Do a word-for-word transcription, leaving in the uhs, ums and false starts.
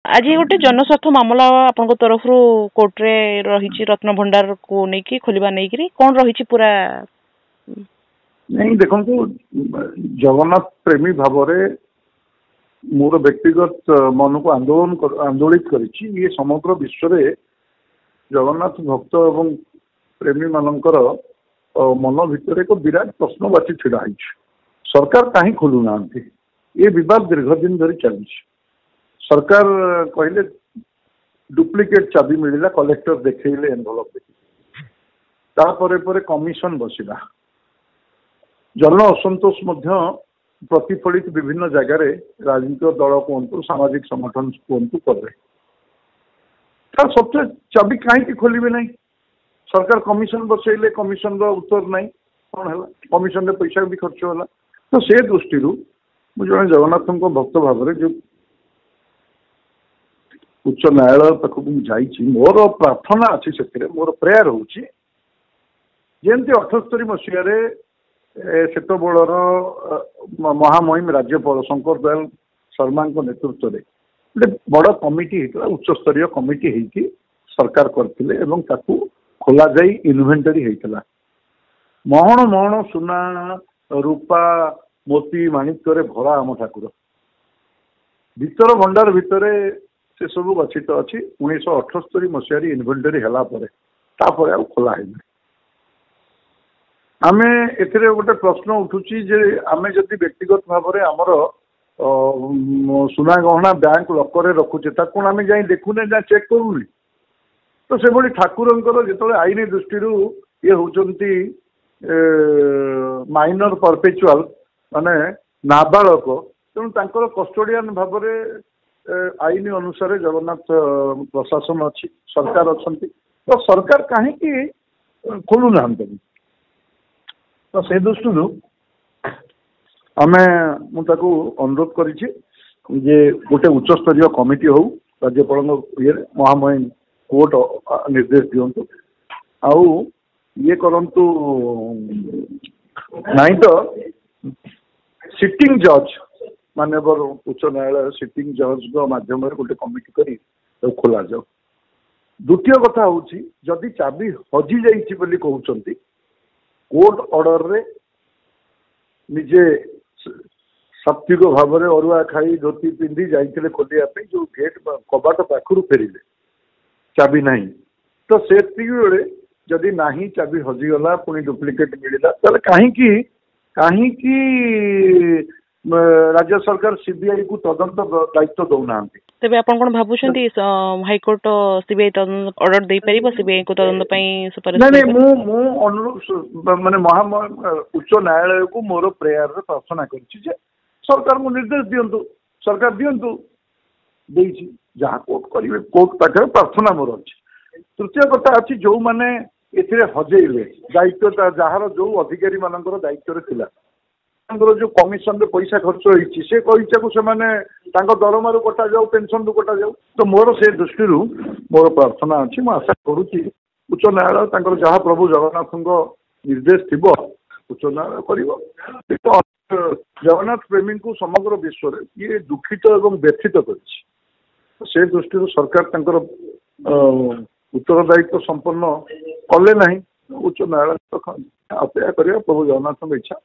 ଆଜି ଗୋଟେ ଜନସ୍ୱାର୍ଥ ମାମଲା ଆପଣଙ୍କ ତରଫରୁ କୋର୍ଟରେ ରହିଛି ରତ୍ନଭଣ୍ଡାରକୁ ନେଇକି ଖୋଲିବା ନେଇକିରି କ'ଣ ରହିଛି ପୁରା ନାଇଁ ଦେଖନ୍ତୁ ଜଗନ୍ନାଥ ପ୍ରେମୀ ଭାବରେ ମୋର ବ୍ୟକ୍ତିଗତ ମନକୁ ଆନ୍ଦୋଳନ ଆନ୍ଦୋଳିତ କରିଛି ଇଏ ସମଗ୍ର ବିଶ୍ୱରେ ଜଗନ୍ନାଥ ଭକ୍ତ ଏବଂ ପ୍ରେମୀମାନଙ୍କର ମନ ଭିତରେ ଏକ ବିରାଟ ପ୍ରଶ୍ନବାଚୀ ଛିଡ଼ା ହେଇଛି ସରକାର କାହିଁ ଖୋଲୁନାହାନ୍ତି ଏ ବିବାଦ ଦୀର୍ଘ ଦିନ ଧରି ଚାଲିଛି ସରକାର କହିଲେ ଡୁପ୍ଲିକେଟ୍ ଚାବି ମିଳିଲା କଲେକ୍ଟର ଦେଖେଇଲେ ଏନଭଲପ ଦେଖି ତାପରେ ପରେ କମିଶନ ବସିଲା ଜନ ଅସନ୍ତୋଷ ମଧ୍ୟ ପ୍ରତିଫଳିତ ବିଭିନ୍ନ ଜାଗାରେ ରାଜନୈତିକ ଦଳ କୁହନ୍ତୁ ସାମାଜିକ ସଂଗଠନ କୁହନ୍ତୁ କଲେ ତା ସତ୍ତ୍ୱେ ଚାବି କାହିଁକି ଖୋଲିବେ ନାହିଁ ସରକାର କମିଶନ ବସେଇଲେ କମିଶନର ଉତ୍ତର ନାହିଁ କ'ଣ ହେଲା କମିଶନରେ ପଇସା ବି ଖର୍ଚ୍ଚ ହେଲା ତ ସେ ଦୃଷ୍ଟିରୁ ମୁଁ ଜଣେ ଜଗନ୍ନାଥଙ୍କ ଭକ୍ତ ଭାବରେ ଯେଉଁ ଉଚ୍ଚ ନ୍ୟାୟାଳୟ ପାଖକୁ ମୁଁ ଯାଇଛି ମୋର ପ୍ରାର୍ଥନା ଅଛି ସେଥିରେ ମୋର ପ୍ରେୟାର ହେଉଛି ଯେମିତି ଅଠସ୍ତରୀ ମସିହାରେ ସେତେବେଳର ମହାମହିମ ରାଜ୍ୟପାଳ ଶଙ୍କର ଦୟାଲ ଶର୍ମାଙ୍କ ନେତୃତ୍ୱରେ ଗୋଟେ ବଡ଼ କମିଟି ହେଇଥିଲା ଉଚ୍ଚସ୍ତରୀୟ କମିଟି ହେଇକି ସରକାର କରିଥିଲେ ଏବଂ ତାକୁ ଖୋଲାଯାଇ ଇନଭେଣ୍ଟରୀ ହେଇଥିଲା ମହଣ ମହଣ ସୁନା ରୂପା ମୋତି ମାଣିକ୍ୟରେ ଭରା ଆମ ଠାକୁର ଭିତର ଭଣ୍ଡାର ଭିତରେ ସେ ସବୁ ଗଚ୍ଛିତ ଅଛି ଉଣେଇଶହ ଅଠସ୍ତରୀ ମସିହାରେ ଇନଭେଣ୍ଟରୀ ହେଲା ପରେ ତାପରେ ଆଉ ଖୋଲା ହେଇନି ଆମେ ଏଥିରେ ଗୋଟେ ପ୍ରଶ୍ନ ଉଠୁଛି ଯେ ଆମେ ଯଦି ବ୍ୟକ୍ତିଗତ ଭାବରେ ଆମର ସୁନା ଗହଣା ବ୍ୟାଙ୍କ ଲକରରେ ରଖୁଛେ ତାକୁ କ'ଣ ଆମେ ଯାଇ ଦେଖୁନେ ନା ଚେକ୍ କରୁନେ ତ ସେଭଳି ଠାକୁରଙ୍କର ଯେତେବେଳେ ଆଇନ ଦୃଷ୍ଟିରୁ ଇଏ ହେଉଛନ୍ତି ମାଇନର ପରପେଚୁଆଲ ମାନେ ନାବାଳକ ତେଣୁ ତାଙ୍କର କଷ୍ଟୋଡ଼ିଆନ ଭାବରେ ଆଇନ ଅନୁସାରେ ଜଗନ୍ନାଥ ପ୍ରଶାସନ ଅଛି ସରକାର ଅଛନ୍ତି ତ ସରକାର କାହିଁକି ଖୋଲୁନାହାନ୍ତି ତ ସେ ଦୃଷ୍ଟିରୁ ଆମେ ମୁଁ ତାକୁ ଅନୁରୋଧ କରିଛି ଯେ ଗୋଟେ ଉଚ୍ଚସ୍ତରୀୟ କମିଟି ହଉ ରାଜ୍ୟପାଳଙ୍କ ଇଏରେ ମହାମହିମ କୋର୍ଟ ନିର୍ଦ୍ଦେଶ ଦିଅନ୍ତୁ ଆଉ ଇଏ କରନ୍ତୁ ନାହିଁ ତ ସିଟିଂ ଜଜ୍ ମାନ୍ୟବର ଉଚ୍ଚ ନ୍ୟାୟାଳୟ ସିଟିଂ ଜଜ୍ଙ୍କ ମାଧ୍ୟମରେ ଗୋଟେ କମିଟି କରି ତାକୁ ଖୋଲାଯାଉ ଦ୍ୱିତୀୟ କଥା ହେଉଛି ଯଦି ଚାବି ହଜି ଯାଇଛି ବୋଲି କହୁଛନ୍ତି କୋର୍ଟ ଅର୍ଡରରେ ନିଜେ ସାତ୍ବିକ ଭାବରେ ଅରୁଆ ଖାଇ ଧୋତି ପିନ୍ଧି ଯାଇଥିଲେ ଖୋଲିବା ପାଇଁ ଯୋଉ ଗେଟ୍ କବାଟ ପାଖରୁ ଫେରିଲେ ଚାବି ନାହିଁ ତ ସେତିକି ବେଳେ ଯଦି ନାହିଁ ଚାବି ହଜିଗଲା ପୁଣି ଡୁପ୍ଲିକେଟ୍ ମିଳିଲା ତାହେଲେ କାହିଁକି କାହିଁକି ରାଜ୍ୟ ସରକାର ସିବିଆଇ କୁ ତଦନ୍ତ ଦାୟିତ୍ୱ ଦଉନାହାନ୍ତି ତେବେ ଆପଣ କ'ଣ ଭାବୁଛନ୍ତି ହାଇକୋର୍ଟ ସିବିଆଇ ତଦନ୍ତ ଅର୍ଡର ଦେଇପାରିବ ସିବିଆଇ କୁ ତଦନ୍ତ ପାଇଁ ସୁପାରିଶ ନାଇଁ ନାଇଁ ମୁଁ ମୁଁ ଅନୁରୋଧ ମାନେ ମହା ଉଚ୍ଚ ନ୍ୟାୟାଳୟକୁ ମୋର ପ୍ରେୟାରରେ ପ୍ରାର୍ଥନା କରିଛି ଯେ ସରକାରଙ୍କୁ ନିର୍ଦ୍ଦେଶ ଦିଅନ୍ତୁ ସରକାର ଦିଅନ୍ତୁ ଦେଇଛି ଯାହା କୋର୍ଟ କରିବେ କୋର୍ଟ ପାଖରେ ପ୍ରାର୍ଥନା ମୋର ଅଛି ତୃତୀୟ କଥା ଅଛି ଯୋଉମାନେ ଏଥିରେ ହଜେଇଲେ ଦାୟିତ୍ୱ ଯାହାର ଯୋଉ ଅଧିକାରୀ ମାନଙ୍କର ଦାୟିତ୍ୱରେ ଥିଲା ତାଙ୍କର ଯୋଉ କମିଶନରେ ପଇସା ଖର୍ଚ୍ଚ ହେଇଛି ସେ ପଇସାକୁ ସେମାନେ ତାଙ୍କ ଦରମାରୁ କଟାଯାଉ ପେନସନରୁ କଟାଯାଉ ତ ମୋର ସେ ଦୃଷ୍ଟିରୁ ମୋର ପ୍ରାର୍ଥନା ଅଛି ମୁଁ ଆଶା କରୁଛି ଉଚ୍ଚ ନ୍ୟାୟାଳୟ ତାଙ୍କର ଯାହା ପ୍ରଭୁ ଜଗନ୍ନାଥଙ୍କ ନିର୍ଦ୍ଦେଶ ଥିବ ଉଚ୍ଚ ନ୍ୟାୟାଳୟ କରିବ ଜଗନ୍ନାଥ ପ୍ରେମୀଙ୍କୁ ସମଗ୍ର ବିଶ୍ୱରେ ଇଏ ଦୁଃଖିତ ଏବଂ ବ୍ୟଥିତ କରିଛି ସେ ଦୃଷ୍ଟିରୁ ସରକାର ତାଙ୍କର ଉତ୍ତରଦାୟିତ୍ୱ ସମ୍ପନ୍ନ କଲେ ନାହିଁ ଉଚ୍ଚ ନ୍ୟାୟାଳୟ ଅପେକ୍ଷା କରିବା ପ୍ରଭୁ ଜଗନ୍ନାଥଙ୍କ ଇଚ୍ଛା